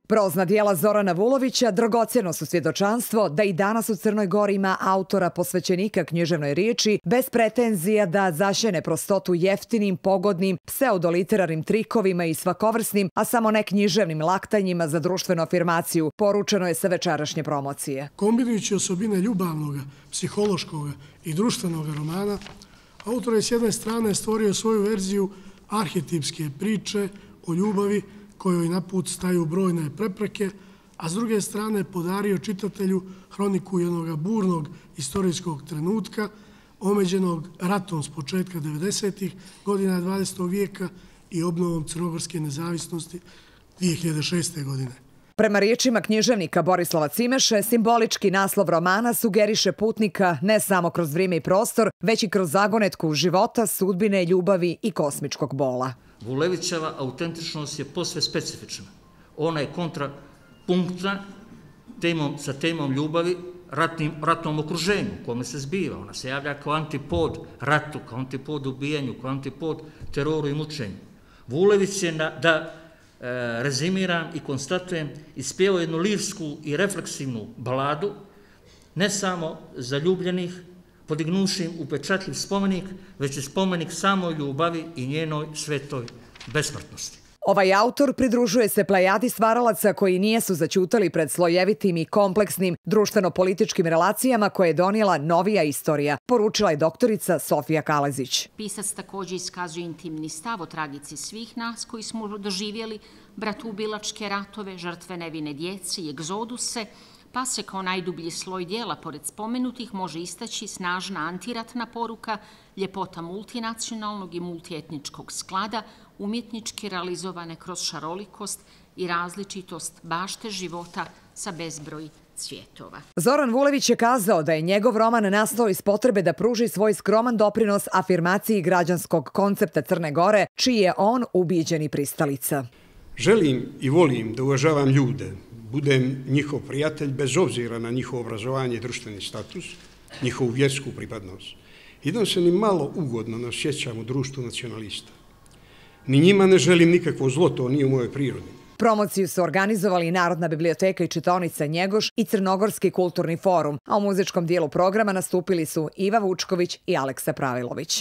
Prozna dijela Zorana Vulovića dragocjeno su svjedočanstvo da i danas u Crnoj Gori ima autora posvećenika književnoj riječi bez pretenzija da zašene prostotu jeftinim, pogodnim, pseudoliterarnim trikovima i svakovrsnim, a samo ne književnim laktanjima za društvenu afirmaciju, poručeno je sa večerašnje promocije. Kombinujući osobine ljubavnog, psihološkog i društvenog romana, autor je s jedne strane stvorio svoju verziju arhetipske priče o ljubavi kojoj na put staju brojne prepreke, a s druge strane podario čitatelju hroniku jednog burnog istorijskog trenutka, omeđenog ratom s početka 90. godina 20. vijeka i obnovom crnogorske nezavisnosti 2006. godine. Prema riječima književnika Borislava Cimeše, simbolički naslov romana sugeriše putnika ne samo kroz vrijeme i prostor, već i kroz zagonetku života, sudbine, ljubavi i kosmičkog bola. Vulevićeva autentičnost je posve specifična. Ona je kontrapunktna sa temom ljubavi, ratnom okruženju u kome se zbiva. Ona se javlja kao antipod ratu, kao antipod ubijanju, kao antipod teroru i mučenju. Vulević je, da rezimiram i konstatujem, ispjevao jednu lirsku i refleksivnu baladu, ne samo zaljubljenih, podignuši upečatljiv spomenik, već i spomenik samoj ljubavi i njenoj svetoj besmrtnosti. Ovaj autor pridružuje se plejadi stvaralaca koji nijesu zaćutali pred slojevitim i kompleksnim društveno-političkim relacijama koje je donijela novija istorija, poručila je doktorica Sofija Kalezić. Pisac također iskazuje intimni stav o tragici svih nas koji smo doživjeli bratoubilačke ratove, žrtve nevine djece i egzoduse, pa se kao najdublji sloj dijela pored spomenutih može istaći snažna antiratna poruka, ljepota multinacionalnog i multietničkog sklada, umjetnički realizovane kroz šarolikost i različitost bašte života sa bezbroj cvjetova. Zoran Vulević je kazao da je njegov roman nastao iz potrebe da pruži svoj skroman doprinos afirmaciji građanskog koncepta Crne Gore, čiji je on ubijeđeni pristalica. Želim i volim da uvažavam ljude, budem njihov prijatelj bez obzira na njihovo obrazovanje i društveni status, njihovu vjersku pripadnost. I da se ni malo ugodno ne osjećam u društvu nacionalista. Ni njima ne želim nikakvo zlo, to nije u mojoj prirodi. Promociju su organizovali Narodna biblioteka i čitaonica Njegoš i Crnogorski kulturni forum, a u muzičkom dijelu programa nastupili su Iva Vučković i Aleksa Pravilović.